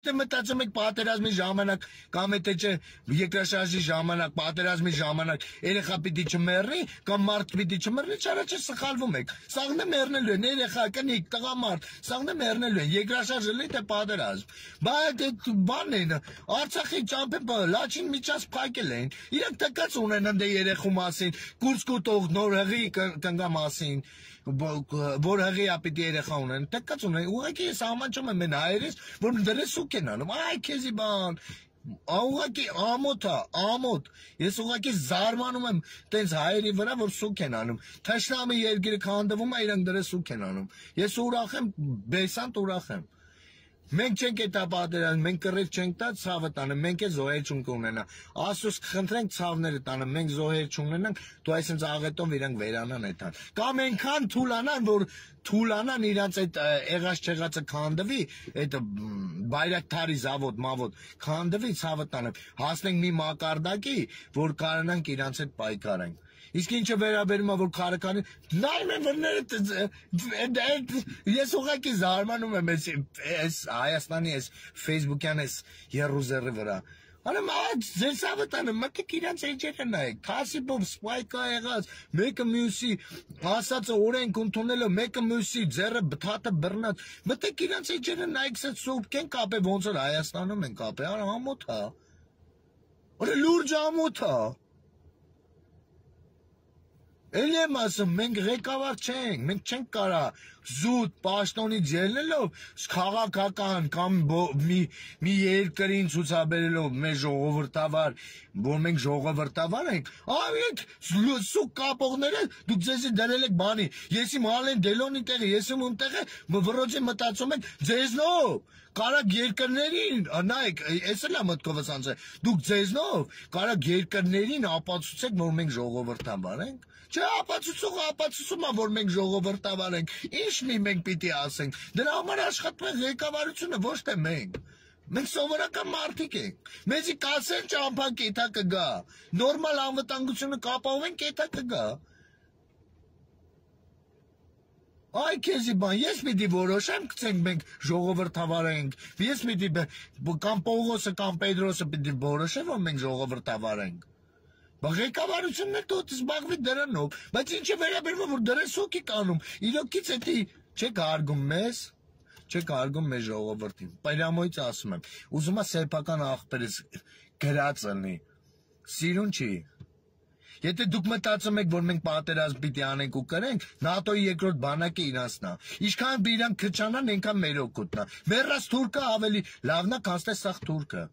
Մտածում եք պատերազմի ժամանակ կամ եթե չէ երկրաշարժի ժամանակ պատերազմի ժամանակ երեխա պիտի չմեռնի կամ մարդ պիտի չմեռնի, չարաչը սխալվում եք։ Սաղն է մեռնելու են երեխա, կնիկ, տղամարդ, սաղն է մեռնելու են, երկրաշարժը լի թե պատերազմ։ Բայց բանն են, Արցախի ճամփը Լաչին միջանց փակել են։ Իրենք տկած ունեն ընդ երեխու մասին, կուրսկու տող նոր հղի կնգա մասին, որ հղի ապիտի երեխա ունեն, տկած ունեն։ Ուղղակի ես ամաչում եմ են հայերից, որ դրես Կենանում, այ քեզի բան, ուղղակի ամոթ, ես ուղղակի զարմանում եմ տենց հայերի վրա, որ սուկ են անում, թշնամի երկիրը քանդվում է, իրանք դրե սուկ են անում, ես ուրախ եմ, բեսանտ ուրախ եմ, մենք չենք էտա պատերազմ, մենք կռիվ չենք տա ցավը տանը, մենք է զոհեր չունք ունենա, Աստծուց խնդրենք ցավները տանը, մենք զոհեր չունենանք, դու այսինքն աղետով իրանք վերանան էտան, կամ այնքան թուլանան, որ թուլանան իրանց այդ եղած չեղածը քանդվի, այդ բայրակթարի զավոդ, մավոդ քանդվի ցավը տանը, հասնենք մի մակարդակի, որ կարողանանք իրանց հետ պայքարենք։ Իսկ ինչը վերաբերում է որ քարականի նայում են վրները ես ուղղակի զարմանում եմ այս Հայաստանի այս Facebook-յան այս Երուսաղեմի վրա Անեմ ձեր սավտանը մտիկ իրանց էջերը նայեք քասիպով սպայկա եղած մեկը մյուսի ասածը օրենք ընդունելով մեկը մյուսի ձեռը բթատը բռնած մտիկ իրանց էջերը նայեք սա սուպ կեն կապե ոնց որ Հայաստանում են կապե ամոթ է Օր լուրջ ամոթ է Էլ եմ ասում, մենք ղեկավար չենք, մենք չենք կարա զուտ պաշտոնից ելնելով քաղաքական կամ մի երկրին ցուցաբերելով մեր ժողովրդավար, որ մենք ժողովրդավար ենք, ավեք սուկ կապողները դուք ձեզի դրել եք բանի, ես իմ հալեն դելոնի տեղը, ես իմ տեղը վրոջի մտածում եք ձեզնով, կարակ երկրներին, նայեք, ես էլ եմ մտքովս անցել, դուք ձեզնով կարակ երկրներին ապացուցեք, որ մենք ժողովրդավար ենք Չէ, ապացուցում է, որ մենք ժողովրդավար ենք, ինչն մենք պիտի ասենք, դրա համար աշխատում է ղեկավարությունը, ոչ թե մենք, մենք սովորական մարդիկ ենք, մեզի կասեն ճամփա կեթա կգա, նորմալ անվտանգությունը կապահովեն կեթա կգա, Այ քեզի բան, ես պիտի որոշեմ, գցենք մենք ժողովրդավար ենք, ես պիտի կամ Պողոսը կամ Պետրոսը պիտի որոշեմ, որ մենք ժողովրդավար ենք Ղեկավարությունն է դու զբաղվի դրանով, բայց ինչը վերաբերվում որ դրես սոկի կանում, իրոքից էդի չեք հարգում մեզ, չեք հարգում մեր ժողովրդին, պայրամոյից ասում եմ, ուզում է սեփական աղբերից գրած լինի, սիրուն չի, Եթե դուք մտածում եք, որ մենք պատերազմ պիտի անենք ու կրենք, ՆԱՏՕ-ի երկրորդ բանակը իրանցնա, ինչքան իրանք քչանան, այնքան մեր օգուտն է, մեռած թուրքը ավելի լավն է, քան սաղ թուրքը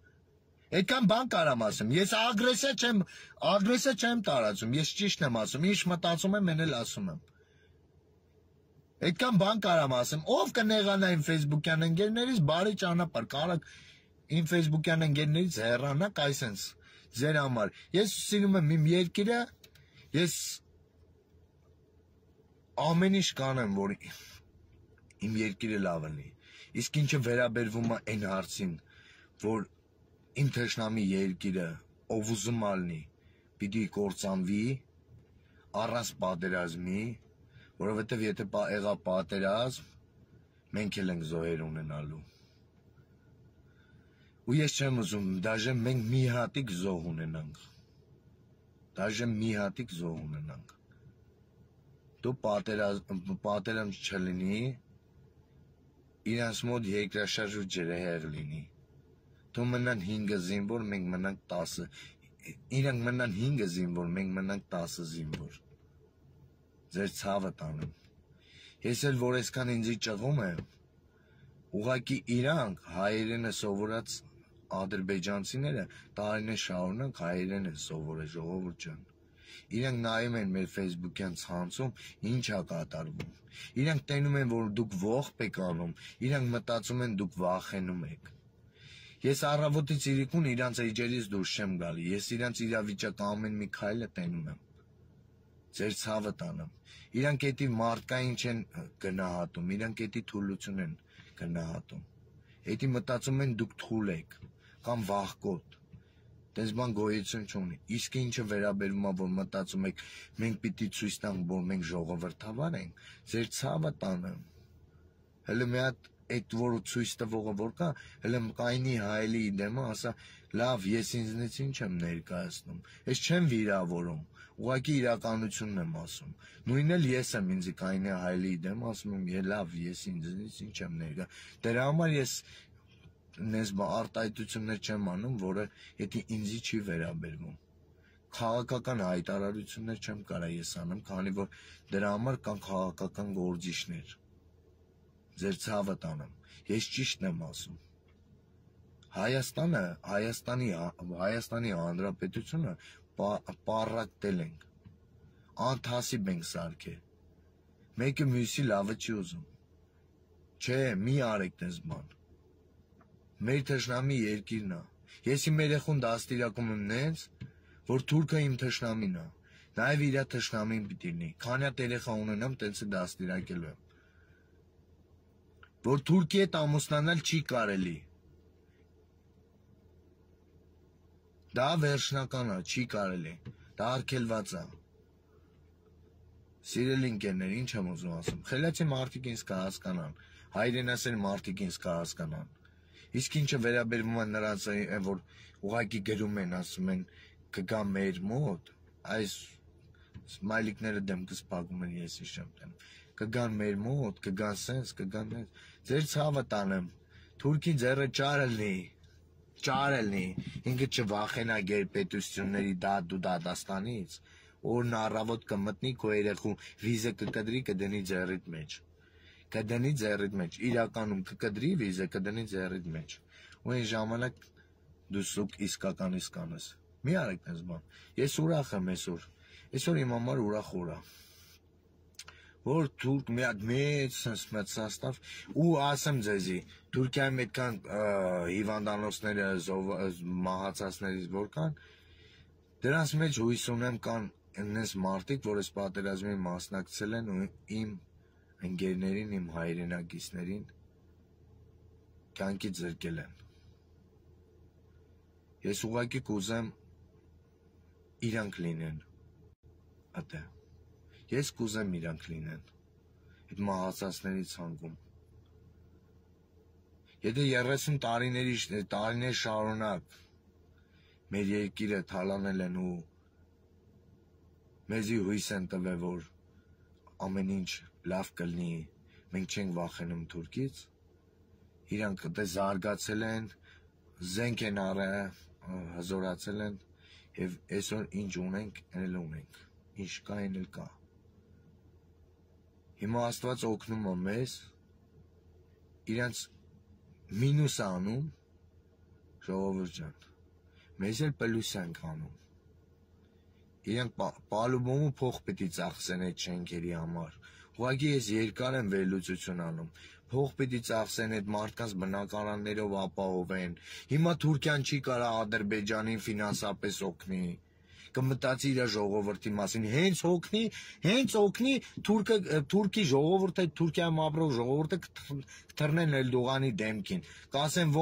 Այդքան բան կարամ ասեմ, ես ագրեսիա չեմ տարածում, ես ճիշտ եմ ասում, ինչ մտածում եմ, են էլ ասում եմ Այդքան բան կարամ ասեմ, ով կնեղանա իմ Facebook-յան ընկերներից, բարի ճանապարհ, կարակ իմ Facebook-յան ընկերներից հեռանաք այսենց ձեր համար, ես սիրում եմ իմ երկիրը, ես ամեն ինչ կանեմ, որ իմ երկիրը լավ լինի, իսկ ինչը վերաբերվում է այն հարցին, որ Իմ թշնամի երկիրը, ով ուզում ալնի, պիտի կործանվի, առանց պատերազմի, որովհետև եթե եղա պատերազմ, մենք էլ ենք զոհեր ունենալու։ Ու ես չեմ ուզում, դաժե մենք մի հատիկ զոհ ունենանք։ Դաժե մի հատիկ զոհ ունենանք։ Դու պատերազմ չլինի, իրանց մոտ երկրաշարժ ու ջրհեղեղ լինի։ Դու մնան 5 զինվոր, մենք մնանք 10, իրանք մնան 5 զինվոր, մենք մնանք 10 զինվոր, ձեր ցավը տանում, ես էլ որ այսքան ինձի ճղում եմ, ուղղակի իրանք հայերենը սովորած ադրբեջանցիները տարիներ շարունակ հայերեն են սովորել ժողովուրդ ջան, իրանք նայում են մեր Facebook-յան ցանցում ինչ է կատարվում, իրանք տենում են որ դուք ողբ եք անում, իրանք մտածում են դուք վախենում եք Ես առավոտից իրիկուն իրանց էջերից դուրս չեմ գալի, ես իրանց իրավիճակը ամեն մի քայլը տենում եմ, ձեր ցավը տանեմ, իրանք էդի մարդկային չեն գնահատում, իրանք էդի թուլություն են գնահատում, էդի մտածում են դուք թուլ եք, կամ վախկոտ, տես բան գոյություն չունի, իսկ ինչը վերաբերում է, որ մտածում եք, մենք պիտի ցույց տանք, որ մենք ժողովրդավար ենք, ձեր ցավը տանեմ, հələ մի հատ այդ որ ցույց տվողը որ կա, հələ կայնի հայելի դեմը ասա, լավ, ես ինձնից ինչ եմ ներկայացնում, ես չեմ վիրավորում, ուղղակի իրականությունն եմ ասում, նույնն էլ ես եմ ինձ կայնի հայելի դեմ ասում եմ, լավ, ես ինձնից ինչ եմ ներկա, դրա համար ես նես արտահայտություններ չեմ անում, որը եթե ինձի չի վերաբերվում, քաղաքական հայտարարություններ չեմ կարա ես անեմ, քանի որ դրա համար կան քաղաքական գործիչներ, ձեր ցավը տանեմ, ես ճիշտն եմ ասում, Հայաստանի Հանրապետությունը պառակտել ենք, անթասիբ ենք սարքել, մեկը մյուսի լավը չի ուզում, չէ, մի արեք տես բան, մեր թշնամի երկիրն է, ես իմ երեխուն դաստիարակում եմ նենց, որ թուրքը իմ թշնամին է, նաև իր թշնամին պիտի լինի, քանի հատ երեխա ունենամ, տենց է դաստիարակելու եմ, որ Թուրքի հետ ամուսնանալ չի կարելի, դա վերջնական է, չի կարելի, դա արգելված է, սիրելի ընկերներ, ինչ եմ ուզում ասում, խելացի մարդիկ ինձ կհասկանան, հայրենասեր մարդիկ ինձ կհասկանան, իսկ ինչը վերաբերվում է նրանց, որ ուղղակի գրում են, ասում են, կգա մեր մոտ, այս սմայլիկները դեմքս փակում են, ես չեմ տանում, կգան մեր մոտ, կգան սենց, կգան նենց, ձեր ցավը տանեմ, Թուրքի ձեռը ճար լինի, ինքը չվախենա գերպետությունների դու դատաստանից, օրն առավոտ կմտնի քո երեխու վիզը կկդրի կդնի ձեռիդ մեջ, իրականում կկդրի վիզը կդնի ձեռիդ մեջ, ու այն ժամանակ դու սուկ իսկական անես, մի արեք այս բան, ես ուրախ եմ այսօր իմ համար ուրախ օր է, որ թուրք մի հատ մեծ սաստավ ու ասեմ ձեզի, Թուրքիայում այդքան հիվանդանոցները մահացածներից որ կան, դրանց մեջ հույս ունեմ կան այնպես մարդիկ, որ այս պատերազմի մասնակցել են ու իմ ընկերներին, իմ հայրենակիցներին կյանքից զրկել են։ Ես ուղղակի կուզեմ իրանք լինեն, ատե, ես կուզեմ իրանք լինեն, այդ մահացածների ցանկում։ Եթե 30 տարիներ շարունակ մեր երկիրը թալանել են ու մեզի հույս են տվել, որ ամեն ինչ լավ կլինի, մենք չենք վախենում Թուրքից, իրանք զարգացել են, զենք են առել, հզորացել են, և այսօր ինչ ունենք, էլ ունենք, ինչ կա, էլ կա։ Հիմա Աստված օգնում է մեզ, իրանց մինուս անում, ժողովուրդ ջան, մեզ էլ պլյուս ենք անում։ Իրանք պալուբոմու փող պիտի ծախսեն այդ շենքերի համար։ Ուղղակի ես երկար եմ վերլուծություն անում։ Փող պիտի ծախսեն այդ մարդկանց բնակարաններով ապահովեն։ Հիմա Թուրքիան չի կարող Ադրբեջանին ֆինանսապես օգնի։ Կմտածի իր ժողովրդի մասին, հենց օգնի Թուրքի ժողովուրդը, Թուրքիայում ապրող ժողովուրդը կթռնեն Էրդողանի դեմքին, կասեն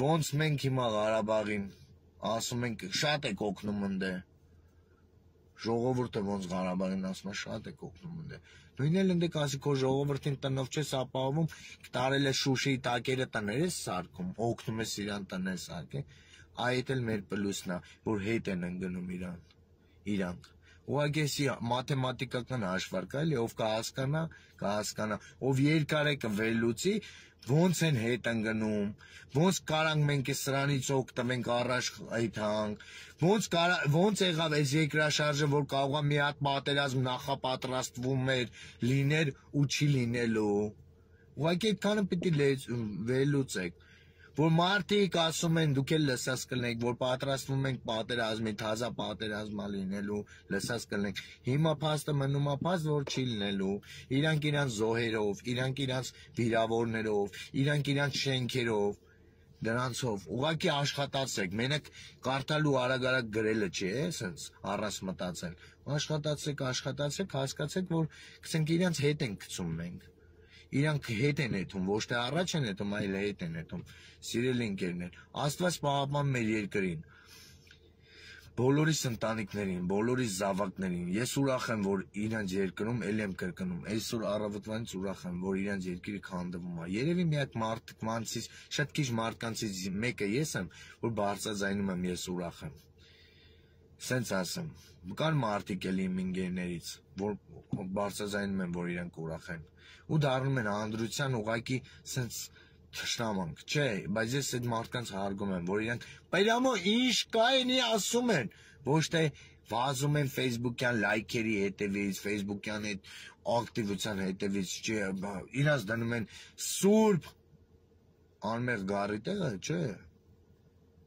ոնց մենք հիմա Ղարաբաղին ասում ենք շատ եք օգնում ընդ է, ժողովուրդը ոնց Ղարաբաղին ասում է շատ եք օգնում ընդ է, նույնն էլ ընդ կասի քո ժողովրդին տնով չես ապահովում, տարել է Շուշիի տակերը տներ ես սարքում, օգնում ես իրան տներ սարքել, այդ էլ մեր պլյուսն է, որ հետ են ընկնում իրանք։ Ուղղակի էսի մաթեմատիկական հաշվարկ է, էլի ով կհասկանա, ով երկար է կվերլուծի, ոնց են հետ ընկնում, ոնց կարանք մենք սրանից օգտվենք առաջ այդհանք, ոնց եղավ այս երկրաշարժը, որ կարող է մի հատ պատերազմ նախապատրաստվում էր, լիներ ու չի լինելու։ Ուղղակի այդքանը պիտի վերլուծեք, որ մարդիկ ասում են, դուք էլ լսած կլինեք, որ պատրաստվում ենք պատերազմի, թազա պատերազմա լինելու, լսած կլինեք։ Հիմա փաստը մնում է փաստ, որ չի լինելու։ Իրանք իրանց զոհերով, իրանք իրանց վիրավորներով, իրանք իրանց շենքերով, դրանցով, ուղղակի աշխատացեք, մենակ կարդալու արագ գրելը չի, սենց առանց մտածել։ Աշխատացեք, հասկացեք, որ կսենք իրանց հետ ենք գցում մենք։ Իրանք հետ են եթում, ոչ թե առաջ են եթում, այլ հետ են եթում, սիրելի ընկերներ, Աստված պահապան մեր երկրին, բոլորիս ընտանիքներին, բոլորիս զավակներին, ես ուրախ եմ, որ իրանց երկրում էլ եմ կրկնում, այսօր առավոտվանից ուրախ եմ, որ իրանց երկիրը քանդվում է, երևի մի հատ մարդկանցից, շատ քիչ մարդկանցից մեկը ես եմ, որ բարձրաձայնում եմ, ես ուրախ եմ, սենց ասեմ, կան մարդիկ էլ իմ ընկերներից, որ բարձրաձայնում են, որ իրանք ուրախ են, ու դառնում են անդրության ուղակի սենց թշնամանք, չէ, բայց ես այդ մարդկանց հարգում եմ, որ իրանք պայրամո ինչ կա էնի ասում են, ոչ թե վազում են Facebook-յան լայքերի հետևից, Facebook-յան այդ ակտիվության հետևից, չէ, իրանց դնում են սուրբ անմեղ գարի տեղը, չէ,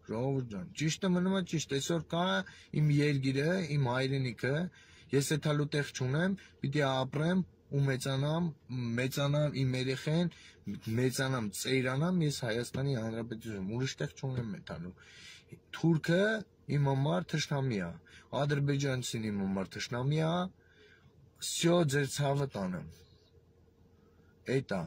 ժողովուրդ ջան, ճիշտը մնում է ճիշտ, այսօր կա իմ երգիրը, իմ հայրենիքը, ես այդ հալու տեղ չունեմ, պիտի ապրեմ, ու մեծանամ իմ երեխեն, մեծանամ, ծերանամ, ես Հայաստանի Հանրապետություն, ուրիշ տեղ չունեմ մեթալու, թուրքը իմ համար թշնամի է, ադրբեջանցին իմ համար թշնամի է, սյո ձեր ցավը տանեմ, էդ է,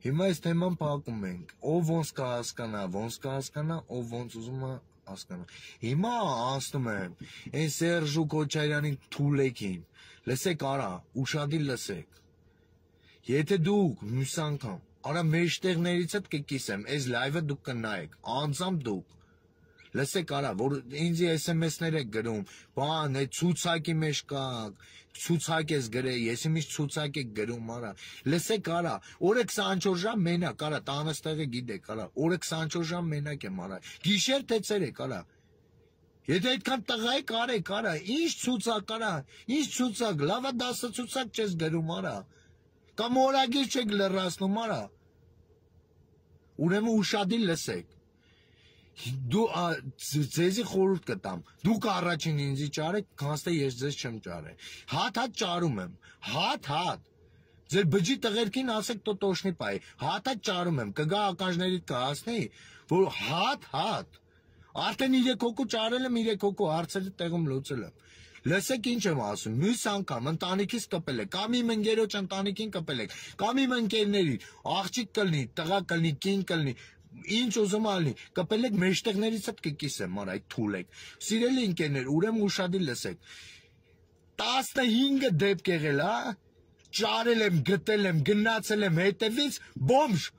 հիմա այս թեման փակում ենք, ով ոնց կհասկանա, ով ոնց ուզում է հասկանա, հիմա անցնում եմ, այն Սերժու Քոչարյանի թուլեկին, լսեք արա, ուշադիր լսեք, եթե դուք մյուս անգամ, արա մեջտեղներից հետ կկիսեմ, այս լայվը դուք կնայեք, անձամբ դուք, լսեք արա, որ ինձ SMS-ներ եք գրում, բան, այդ ցուցակի մեջ կաք, ցուցակ ես գրել, ես իմիջ ցուցակ եք գրում, արա, լսեք արա, օրը 24 ժամ մենակ, արա, տանս տեղը գիտեք, արա, օրը 24 ժամ մենակ եմ, արա, գիշեր թե ցերեկ, արա, եթե այդքան տղա եք արեք, արա, ինչ ցուցակ, արա, ինչ ցուցակ, լավա 10 ցուցակ չես գրում, արա, կամ օրագիր չեք լրացնում, արա, ուրեմն ուշադիր լսեք, դու ձեզի խորհուրդ կտամ, դուք առաջին ինձի ճարեք, կանստե ես ձեզ չեմ ճարել, հատ ճարում եմ, հատ, ձեր բջի տղերքին ասեք տոտոշնի պայ, հատ ճարում եմ, կգա ականջներիդ կհասնի, որ հատ, արդեն 3 հոգու ճարել եմ, 3 հոգու հարցերը տեղում լուծել եմ, լսեք ինչ եմ ասում, մյուս անգամ ընտանիքից կպել եք, կամ իմ ընկերոջ ընտանիքին կպել եք, կամ իմ ընկերների, աղջիկ կլնի, տղա կլնի, կին կլնի, ինչ ուզում ալնի, կպել եք մեջտեղներից հետ կկիսեմ, արա, այդ թուլ եք, սիրելի ընկերներ, ուրեմն ուշադիր լսեք, 15 դեպք եղել, ճարել եմ, գտել եմ, գնացել եմ հետևից, բոմժ,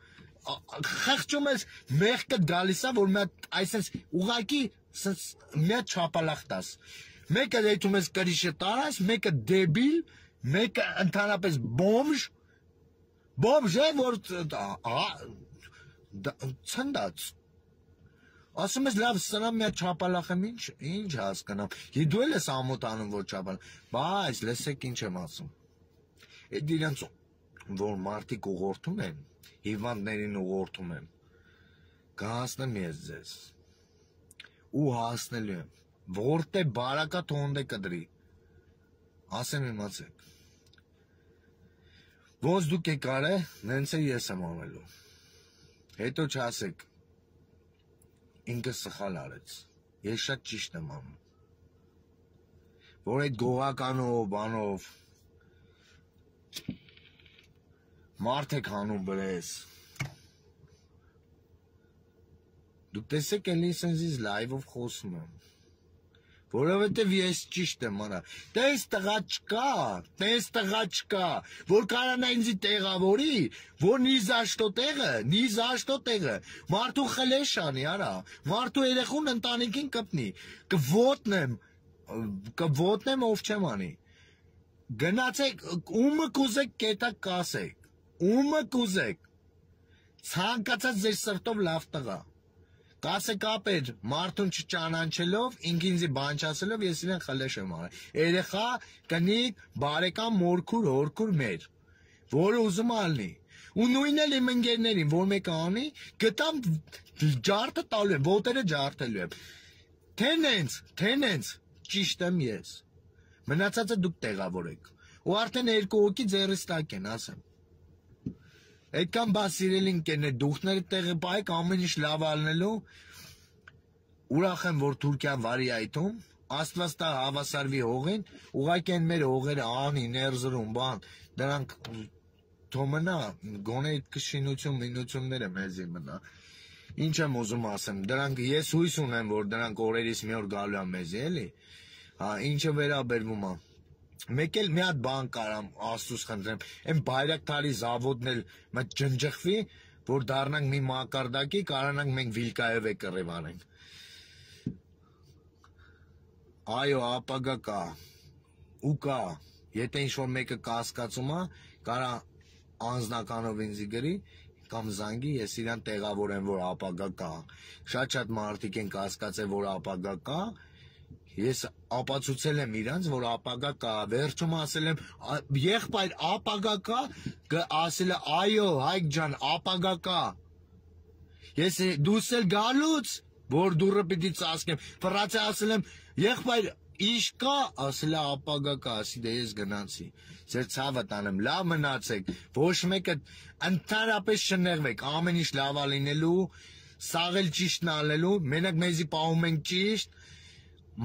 խղճում ես մեղքը գալիս է, որ մի հատ այսպես ուղակի մի հատ չապալախ տաս, մեկը դեթում ես կրիշը տարած, մեկը դեբիլ, մեկը ընդհանրապես բոմժ է, որ ցնդած, ասում ես լավ սրանա մի հատ չապալախ եմ, ինչ հասկանամ, դու էլ ես ամոթանում, որ չապալախ, բայց լսեք ինչ եմ ասում, այդ իրանց որ մարդիկ ուղղորդում են, հիվանդներին ուղղորդում եմ, կհասնեմ ես ձեզ, ու հասնելու եմ, որտե բարակա թոնդե կդրի, ասեմ իմացեք, ոնց դուք եք արե, նենց է ես եմ անելու, հետո չասեք, ինքս սխալ արեց, ես շատ ճիշտ եմ անում, որ այդ գողականով, բանով, մարդ եք հանում բրես, դուք տեսեք էլ ինձ լայվով խոսում եմ, որովհետև ես ճիշտ եմ արա, տես տղա չկա, որ կարանա ինձի տեղավորի, որ նիզաշտո տեղը, մարդու խլեշ անի արա, մարդու երեխուն ընտանիքին կպնի, կվոտնեմ ով չեմ անի, գնացեք, ումը կուզեք կետակ կասեք, ումը կուզեք, ցանկացած ձեր սրտով լավ տղա, կասեք ապեր, մարդուն չճանաչելով, ինքինձի բան չասելով, ես իրեն խլեշ եմ արել, երեխա, կնիկ, բարեկամ, մորքուր, հորքուր մեր, որը ուզում ալնի, ու նույնն էլ իմ ընկերներին, որ մեկը անի, գտամ ջարդը տալու եմ, ոտերը ջարդելու եմ, թե նենց, ճիշտ եմ ես, մնացածը դուք տեղավորեք, ու արդեն 2 հոգի ձեռիս տակ են, ասեմ, այդքան բաց սիրելի ընկերներ, դուխները տեղը պայեք, ամեն ինչ լավ ալնելու, ուրախ եմ, որ Թուրքիան վարի այդում, Աստված տա հավասարվի հողին, ուղղակի են մեր հողերը անի, ներզրում, բան, դրանք թոմնա, գոնե այդ կշինություն, մինությունները մեզի մնա, Ինչ եմ ուզում ասեմ, դրանք ես հույս ունեմ, որ դրանք օրերից մի օր գալու է մեզ, էլի։ Հա, ինչը վերաբերվում է։ Մեկ էլ մի հատ բան կարամ Աստծուց խնդրեմ, այն Բայրակտարի զավոդն էլ մտ ջնջխվի, որ դառնանք մի մակարդակի, կարողանանք մենք Վիլկայևը կռիվ անենք։ Այո, ապագա կա։ Ու կա, եթե ինչ-որ մեկը կասկածում է, կարա անձնականով ինձ գրի, կամ զանգի, ես իրան տեղավորեմ, որ ապագա կա։ Շատ մարդիկ են կասկածել, որ ապագա կա, ես ապացուցել եմ իրանց, որ ապագա կա, վերջում ասել եմ, եղբայր ապագա կա, ասել է, այո, Հայկ ջան, ապագա կա։ Ես դուս էլ գալուց, որ դուրը պիտի ծածկեմ, ֆրացի ասել եմ, եղբայր, ինչ կա, ասել է ապագա կա, ասի դե ես գնացի, ձեր ցավը տանեմ, լավ մնացեք, ոչ մեկը ընդհանրապես չնեղվեք, ամեն ինչ լավ է լինելու, սաղ էլ ճիշտն անելու, մենակ մեզի պահում ենք ճիշտ,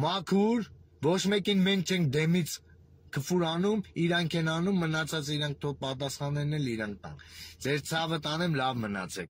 մաքուր, ոչ մեկին մենք չենք դեմից քֆուր անում, իրանք են անում, մնացած իրանք թող պատասխանեն էլ իրանք տան, ձեր ցավը տանեմ, լավ մնացեք։